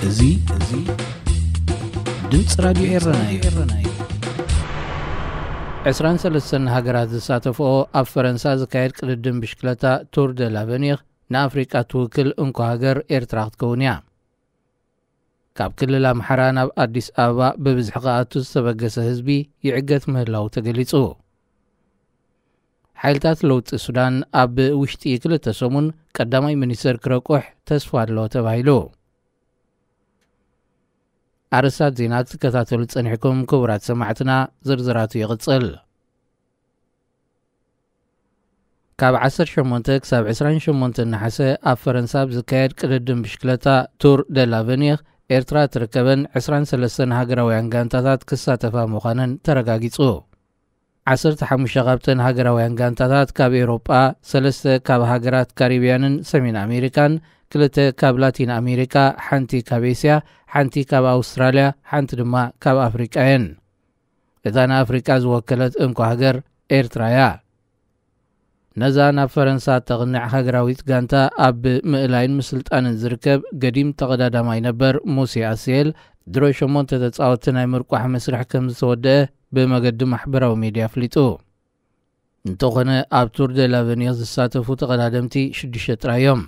እዚ እዚ ድምፂ ራድዮ ኤረና እዩ። ዕስራን ሰለስተን ሃገራት ዝሳተፍኦ ኣብ ፈረንሳ ዝካየድ ቅድድም ብሽክለታ ቱር ደ ላቨኒር ንኣፍሪቃ ትውክል እንኮ ሃገር ኤርትራ ክትከውን እያ። ካብ ክልል ኣምሓራ ናብ ኣዲስ ኣበባ ብብዝሒ ክኣቱ ዝተበገሰ ህዝቢ ይዕገት ምህላው ተገሊጹ። ሓይልታት ለውጢ ሱዳን ኣብ ውሽጢ ክልተ ሰሙን ቀዳማይ ሚኒስተር ክረቁሕ ተስፋ ኣሎ ተባሂሉ። ኣርእስታት ዜና ክትከታተሉ ጸኒሕኩም ክቡራት ሰማዕትና፣ ዝርዝራቱ ይቕጽል። ካብ ዓሰርተ ሸሞንተ ክሳብ ዕስራን ሸሞንተ ነሓሰ ኣብ ፈረንሳ ኣብ ዝካየድ ቅድድም ብሽክለታ ቱር ደ ላቨኒር ኤርትራ ትርከበን ዕስራን ሰለስተን ሃገራውያን ጋንታታት ክሳተፋ ምዃነን ተረጋጊጹ። ዓሰርተ ሓሙሽተ ካብተን ሃገራውያን ጋንታታት ካብ ኤውሮጳ፣ ሰለስተ ካብ ሃገራት ካሪብያንን ሰሜን ኣሜሪካን፣ ክልተ ካብ ላቲን ኣሜሪካ፣ ሓንቲ ካብ ኤስያ፣ ሓንቲ ካብ ኣውስትራልያ፣ ሓንቲ ድማ ካብ ኣፍሪቃ እየን። እታ ንኣፍሪቃ ዝወከለት እንኮ ሃገር ኤርትራ እያ። ነዛ ናብ ፈረንሳ እተቕንዕ ሃገራዊት ጋንታ ኣብ ምእላይን ምስልጣንን ዝርከብ ገዲም ተቐዳዳማይ ነበር ሙሴ ኣስየል ድሮ ሸሞንተ ተጻወትቲ ናይ ምርቋሕ መስርሕ ከም ዝተወደአ ብመገዲ ማሕበራዊ ሜድያ ኣፍሊጡ። እንተኾነ ኣብ ቱር ደ ላቨኒር ዝሳተፉ ተቐዳደምቲ ሽዱሽተ ጥራይ እዮም።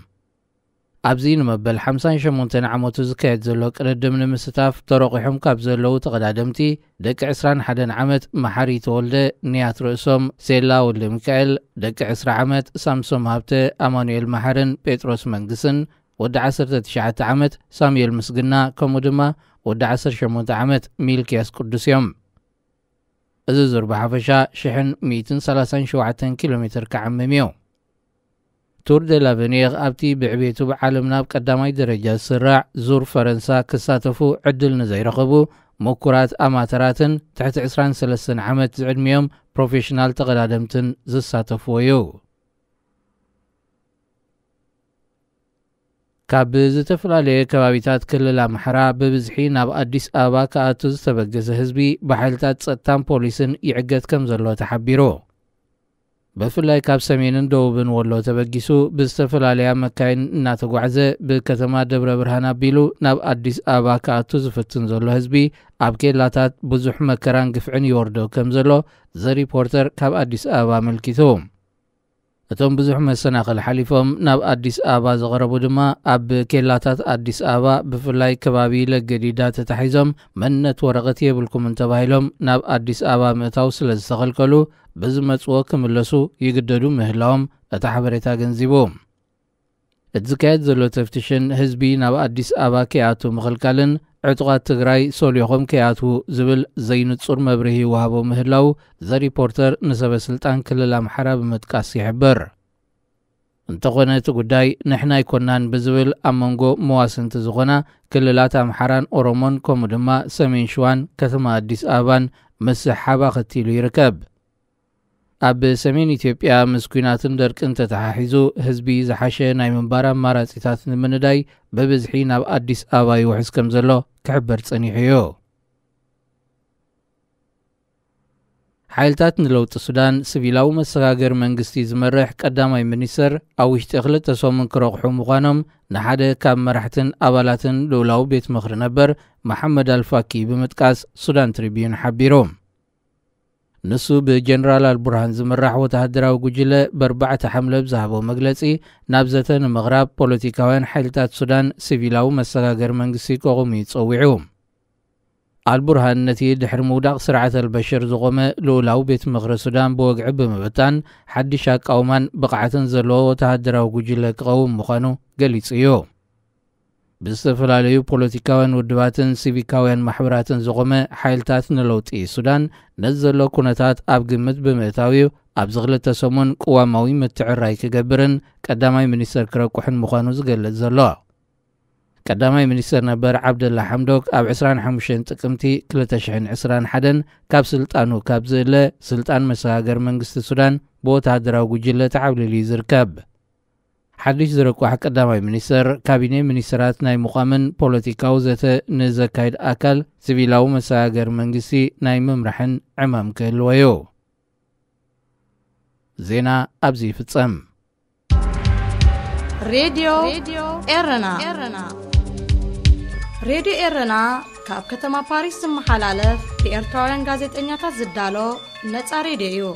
ኣብዚ ንመበል ሓምሳን ሸሞንተን ዓመቱ ዝካየድ ዘሎ ቅድድም ንምስታፍ ተረቑሖም ካብ ዘለዉ ተቐዳደምቲ ደቂ ዕስራን ሓደን ዓመት መሓሪ ተወልደ፣ ንያት ርእሶም፣ ሴላ ወልደ ሚካኤል፣ ደቂ ዕስራ ዓመት ሳምሶም ሃብተ፣ ኣማኑኤል መሓርን ጴጥሮስ መንግስን፣ ወዲ ዓሰርተ ትሽዓተ ዓመት ሳሙኤል ምስግና፣ ከምኡ ድማ ወዲ ዓሰርተ ሸሞንተ ዓመት ሚልክያስ ቅዱስ እዮም። እዚ ዙር ብሓፈሻ ሽሕን ሚእትን ሰላሳን ሸውዓተን ኪሎ ሜትር ክዓምም እዩ። ቱር ደ ላቨኒር ኣብቲ ብዕቤቱ ብዓለምና ኣብ ቀዳማይ ደረጃ ዝስራዕ ዙር ፈረንሳ ክሳተፉ ዕድል ንዘይረኸቡ ምኩራት ኣማተራትን ትሕቲ ዕስራን ሰለስተን ዓመት ዝዕድሚኦም ፕሮፌሽናል ተቐዳደምትን ዝሳተፍዎ እዩ። ካብ ዝተፈላለየ ከባቢታት ክልል ኣምሓራ ብብዝሒ ናብ ኣዲስ ኣበባ ክኣቱ ዝተበገሰ ህዝቢ ብሓይልታት ጸጥታን ፖሊስን ይዕገት ከም ዘሎ ተሓቢሩ። ብፍላይ ካብ ሰሜንን ደቡብን ወሎ ተበጊሱ ብዝተፈላለያ መካይን እናተጓዕዘ ብከተማ ደብረ ብርሃን ኣቢሉ ናብ ኣዲስ ኣበባ ክኣቱ ዝፍትን ዘሎ ህዝቢ ኣብ ኬላታት ብዙሕ መከራን ግፍዕን ይወርዶ ከም ዘሎ ዘ ሪፖርተር ካብ ኣዲስ ኣበባ ኣመልኪቱ። እቶም ብዙሕ መሰናኽል ሓሊፎም ናብ ኣዲስ ኣበባ ዝቐረቡ ድማ ኣብ ኬላታት ኣዲስ ኣበባ ብፍላይ ከባቢ ለገዲዳ ተታሒዞም መንነት ወረቐት የብልኩምን ተባሂሎም ናብ ኣዲስ ኣበባ ምእታው ስለ ዝተኸልከሉ ብዝመጽዎ ክምለሱ ይግደዱ ምህላዎም እቲ ሓበሬታ ገንዚቡ። እቲ ዝካየድ ዘሎ ተፍትሽን ህዝቢ ናብ ኣዲስ ኣበባ ከይኣቱ ምኽልካልን ዕጡቓት ትግራይ ሶሊኾም ከይኣትዉ ዝብል ዘይንጹር መብርሂ ይወሃቦ ምህላው ዘ ሪፖርተር ንሰበ ስልጣን ክልል ኣምሓራ ብምጥቃስ ይሕብር። እንተኾነ እቲ ጉዳይ ንሕና ኣይኮናን ብዝብል ኣብ መንጎ መዋስንቲ ዝኾና ክልላት ኣምሓራን ኦሮሞን ከምኡ ድማ ሰሜን ሽዋን ከተማ ኣዲስ ኣበባን ምስሕሓብ ኣኸቲሉ ይርከብ። ኣብ ሰሜን ኢትዮጵያ ምስ ኲናትን ደርቅን ተተሓሒዙ ህዝቢ ዝሓሸ ናይ ምንባር ኣማራጺታት ንምንዳይ ብብዝሒ ናብ ኣዲስ ኣበባ ይውሕዝ ከም ዘሎ ክሕበር ጸኒሑ እዩ። ሓይልታት ንለውጢ ሱዳን ሲቪላዊ መሰጋገሪ መንግስቲ ዝመርሕ ቀዳማይ ሚኒስተር ኣብ ውሽጢ ክልተ ሰሙን ክረቑሑ ምዃኖም ንሓደ ካብ መራሕትን ኣባላትን ልኡላዊ ቤት ምኽሪ ነበር መሓመድ ኣልፋኪ ብምጥቃስ ሱዳን ትሪቢዩን ሓቢሩ። ንሱ ብጀነራል ኣልቡርሃን ዝምራሕ ወተሃደራዊ ጉጅለ በርባዕተ ሓምለ ብዝሃቦ መግለጺ ናብ ዘተ ንምቕራብ ፖለቲካውያን ሓይልታት ሱዳን ሲቪላዊ መሰጋገሪ መንግስቲ ከቑሙ እዩ ጸዊዑ። ኣልቡርሃን ነቲ ድሕሪ ምውዳቕ ስርዓት ኣልበሽር ዝቖመ ልኡላዊ ቤት ምኽሪ ሱዳን ብወግዒ ብምብታን ሓድሽ ኣቃውማን ብቕዓትን ዘለዎ ወተሃደራዊ ጉጅለ ክቐውም ምዃኑ ገሊጹ እዩ። ብዝተፈላለዩ ፖለቲካውያን ውድባትን ሲቪካውያን ማሕበራትን ዝቖመ ሓይልታት ንለውጢ ሱዳን ነዚ ዘሎ ኩነታት ኣብ ግምት ብምእታው እዩ ኣብዚ ክልተ ሰሙን ቅዋማዊ ምትዕራይ ክገብርን ቀዳማይ ሚኒስተር ክረቁሕን ምዃኑ ዝገልጽ ዘሎ። ቀዳማይ ሚኒስተር ነበር ዓብደላ ሓምዶክ ኣብ ዕስራን ሓሙሽተን ጥቅምቲ ክልተ ሽሕን ዕስራን ሓደን ካብ ስልጣኑ ካብ ዝእለ ስልጣን መሰጋገሪ መንግስቲ ሱዳን ብወተሃደራዊ ጉጅለ ተዓብሊሉ እዩ ዝርከብ። ሓድሽ ዝረቋሕ ቀዳማይ ሚኒስተር ካቢኔ ሚኒስተራት ናይ ምዃምን ፖለቲካዊ ዘተ ንዘካይድ ኣካል ሲቪላዊ መሰጋገሪ መንግስቲ ናይ ምምራሕን ዕማም ክህልዎ እዩ። ዜና ኣብዚ ይፍጸም። ሬድዮ ኤረና። ሬድዮ ኤረና ካብ ከተማ ፓሪስ ዝመሓላለፍ ብኤርትራውያን ጋዜጠኛታት ዝዳሎ ነጻ ሬድዮ እዩ።